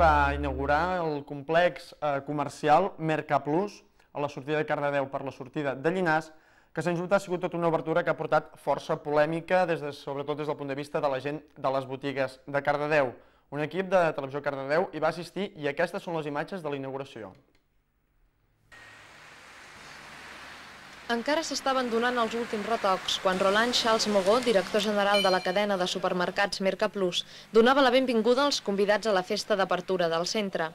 va inaugurar el complex comercial Mercaplus a la sortida de Cardedeu per la sortida de Llinars, que sens dubte ha sigut tota una obertura que ha portat força polèmica, sobretot des del punt de vista de la gent de les botigues de Cardedeu. Un equip de Televisió Cardedeu hi va assistir i aquestes són les imatges de la inauguració. Encara s'estaven donant els últims retocs quan Roland Charles Mogó, director general de la cadena de supermercats Mercaplus, donava la benvinguda als convidats a la festa d'apertura del centre.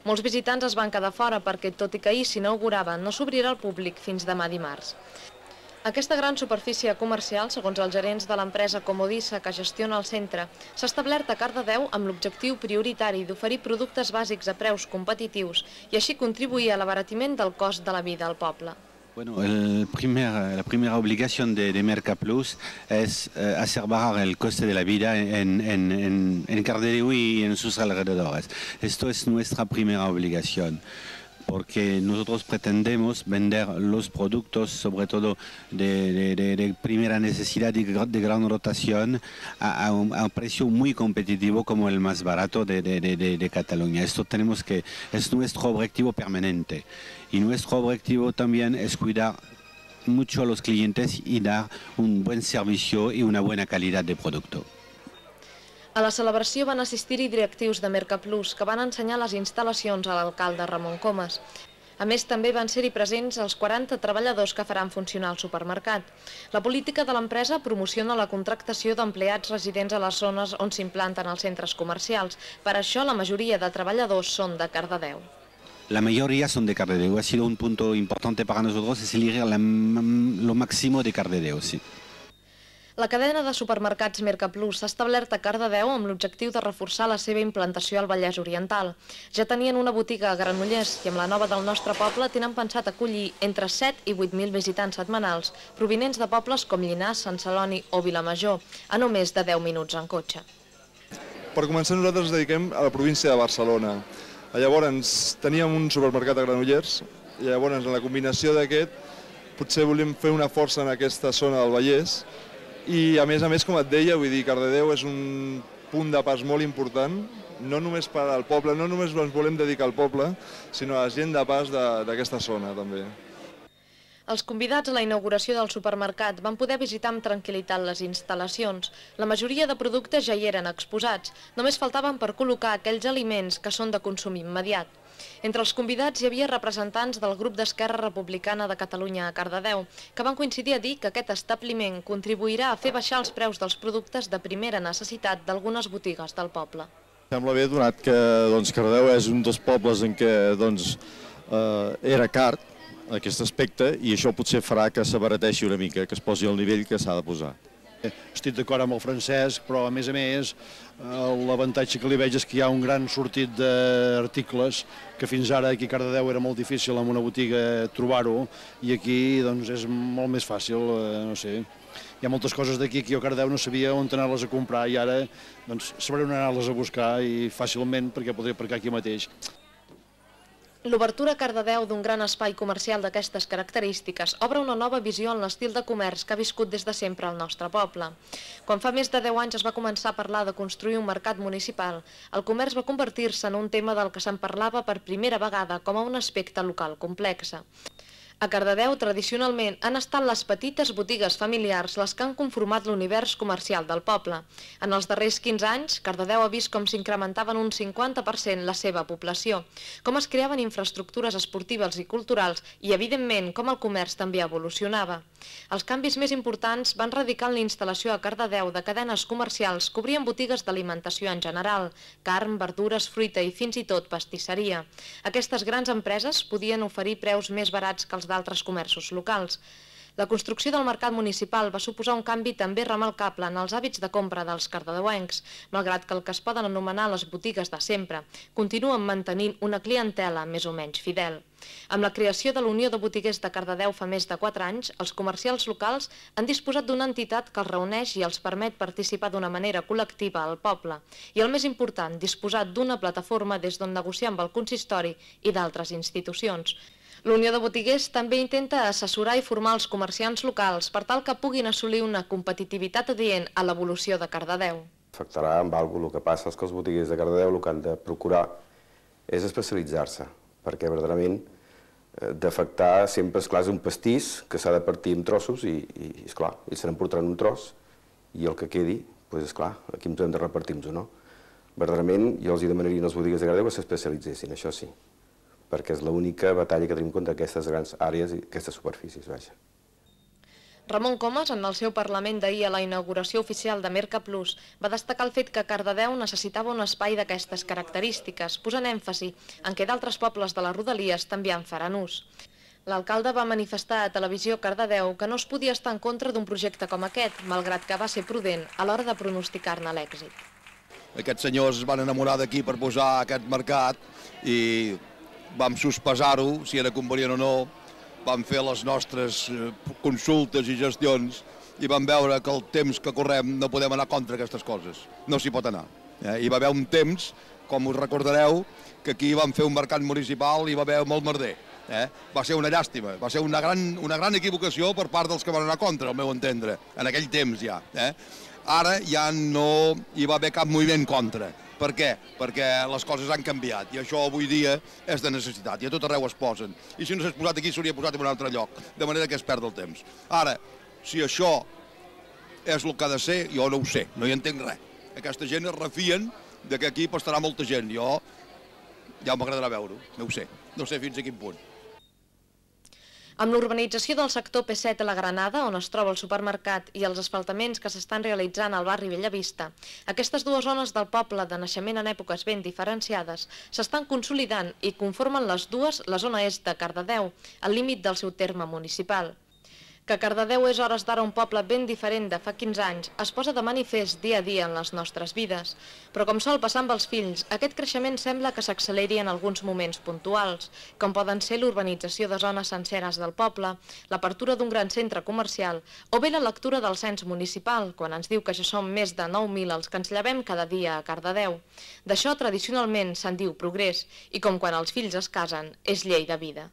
Molts visitants es van quedar fora perquè, tot i que ahir s'inaugurava, no s'obrirà al públic fins demà dimarts. Aquesta gran superfície comercial, segons els gerents de l'empresa Comodissa que gestiona el centre, s'ha establert a Cardedeu amb l'objectiu prioritari d'oferir productes bàsics a preus competitius i així contribuir a l'abaratiment del cost de la vida al poble. Bueno, la primera obligación de Mercaplus es hacer bajar el coste de la vida en Cardedeu y en sus alrededores. Esto es nuestra primera obligación, porque nosotros pretendemos vender los productos, sobre todo de primera necesidad y de gran rotación, a un precio muy competitivo como el más barato de Cataluña. Esto es nuestro objetivo permanente. Y nuestro objetivo también es cuidar mucho a los clientes y dar un buen servicio y una buena calidad de producto. A la celebració van assistir-hi directius de Mercaplus, que van ensenyar les instal·lacions a l'alcalde Ramon Comas. A més, també van ser-hi presents els 40 treballadors que faran funcionar el supermercat. La política de l'empresa promociona la contractació d'empleats residents a les zones on s'implanten els centres comercials. Per això, la majoria de treballadors són de Cardedeu. La mayoría son de Cardedeu. Ha sido un punto importante para nosotros, es elegir lo máximo de Cardedeu, sí. La cadena de supermercats Mercaplus s'ha establert a Cardedeu amb l'objectiu de reforçar la seva implantació al Vallès Oriental. Ja tenien una botiga a Granollers i amb la nova del nostre poble tenen pensat acollir entre 7 i 8.000 visitants setmanals, provinents de pobles com Llinars, Sant Celoni o Vilamajor, a només de 10 minuts en cotxe. Per començar, nosaltres ens dediquem a la província de Barcelona. Llavors teníem un supermercat a Granollers i llavors en la combinació d'aquest potser volíem fer una força en aquesta zona del Vallès i a més, com et deia, vull dir, Cardedeu és un punt de pas molt important, no només per al poble, no només ens volem dedicar al poble, sinó a la gent de pas d'aquesta zona també. Els convidats a la inauguració del supermercat van poder visitar amb tranquil·litat les instal·lacions. La majoria de productes ja hi eren exposats, només faltaven per col·locar aquells aliments que són de consum immediat. Entre els convidats hi havia representants del grup d'Esquerra Republicana de Catalunya a Cardedeu, que van coincidir a dir que aquest establiment contribuirà a fer baixar els preus dels productes de primera necessitat d'algunes botigues del poble. Sembla bé, donat que Cardedeu és un dels pobles en què era car aquest aspecte i això potser farà que s'abarateixi una mica, que es posi al nivell que s'ha de posar. Estic d'acord amb el Francesc, però a més l'avantatge que li veig és que hi ha un gran sortit d'articles que fins ara aquí a Cardedeu era molt difícil en una botiga trobar-ho i aquí és molt més fàcil, no sé. Hi ha moltes coses d'aquí que jo a Cardedeu no sabia on anar-les a comprar i ara sabré on anar-les a buscar i fàcilment perquè podré aparcar aquí mateix. L'obertura a Cardedeu d'un gran espai comercial d'aquestes característiques obre una nova visió en l'estil de comerç que ha viscut des de sempre al nostre poble. Quan fa més de 10 anys es va començar a parlar de construir un mercat municipal, el comerç va convertir-se en un tema del que se'n parlava per primera vegada com a un aspecte local complex. A Cardedeu, tradicionalment, han estat les petites botigues familiars les que han conformat l'univers comercial del poble. En els darrers 15 anys, Cardedeu ha vist com s'incrementaven un 50% la seva població, com es creaven infraestructures esportives i culturals i, evidentment, com el comerç també evolucionava. Els canvis més importants van radicar en la instal·lació a Cardedeu de cadenes comercials que obrien botigues d'alimentació en general, carn, verdures, fruita i fins i tot pastisseria. Aquestes grans empreses podien oferir preus més barats que els d'altres comerços locals. La construcció del mercat municipal va suposar un canvi també remarcable en els hàbits de compra dels cardedeuencs, malgrat que el que es poden anomenar les botigues de sempre continuen mantenint una clientela més o menys fidel. Amb la creació de la Unió de Botiguers de Cardedeu fa més de 4 anys, els comercials locals han disposat d'una entitat que els reuneix i els permet participar d'una manera col·lectiva al poble. I el més important, disposar d'una plataforma des d'on negociar amb el consistori i d'altres institucions. La Unió de Botiguers també intenta assessorar i formar els comerciants locals per tal que puguin assolir una competitivitat adient a l'evolució de Cardedeu. Afectarà amb alguna cosa. El que passa és que els botiguers de Cardedeu el que han de procurar és especialitzar-se, perquè verdaderament d'afectar sempre, esclar, és un pastís que s'ha de partir en trossos i esclar, ells se n'emportaran un tros i el que quedi, doncs esclar, aquí ens hem de repartir-nos-ho, no? Verdaderament, jo els demanaria als botiguers de Cardedeu que s'especialitzessin, això sí, perquè és l'única batalla que tenim contra aquestes grans àrees i aquestes superfícies, vaja. Ramon Comas, en el seu Parlament d'ahir a la inauguració oficial de Mercaplus, va destacar el fet que Cardedeu necessitava un espai d'aquestes característiques, posant èmfasi en què d'altres pobles de les Rodalies també en faran ús. L'alcalde va manifestar a Televisió Cardedeu que no es podia estar en contra d'un projecte com aquest, malgrat que va ser prudent a l'hora de pronosticar-ne l'èxit. Aquests senyors es van enamorar d'aquí per posar aquest mercat i vam sospesar-ho, si era convenient o no, vam fer les nostres consultes i gestions i vam veure que el temps que correm no podem anar contra aquestes coses, no s'hi pot anar. Hi va haver un temps, com us recordareu, que aquí vam fer un mercat municipal i hi va haver molt merder. Va ser una llàstima, va ser una gran equivocació per part dels que van anar contra, al meu entendre, en aquell temps ja. Ara ja no hi va haver cap moviment contra. Per què? Perquè les coses han canviat i això avui dia és de necessitat i a tot arreu es posen. I si no s'ha posat aquí s'hauria posat en un altre lloc, de manera que es perd el temps. Ara, si això és el que ha de ser, jo no ho sé, no hi entenc res. Aquesta gent es refien que aquí pastarà molta gent. Jo ja m'agradarà veure-ho, no ho sé. No sé fins a quin punt. Amb l'urbanització del sector P7 a la Granada, on es troba el supermercat, i els asfaltaments que s'estan realitzant al barri Bellavista, aquestes dues zones del poble de naixement en èpoques ben diferenciades s'estan consolidant i conformen les dues la zona est de Cardedeu, al límit del seu terme municipal. Que Cardedeu és hores d'ara un poble ben diferent de fa 15 anys es posa de manifest dia a dia en les nostres vides. Però com sol passar amb els fills, aquest creixement sembla que s'acceleri en alguns moments puntuals, com poden ser l'urbanització de zones senceres del poble, l'apertura d'un gran centre comercial o bé la lectura del cens municipal, quan ens diu que ja som més de 9.000 els que ens llevem cada dia a Cardedeu. D'això tradicionalment se'n diu progrés i com quan els fills es casen és llei de vida.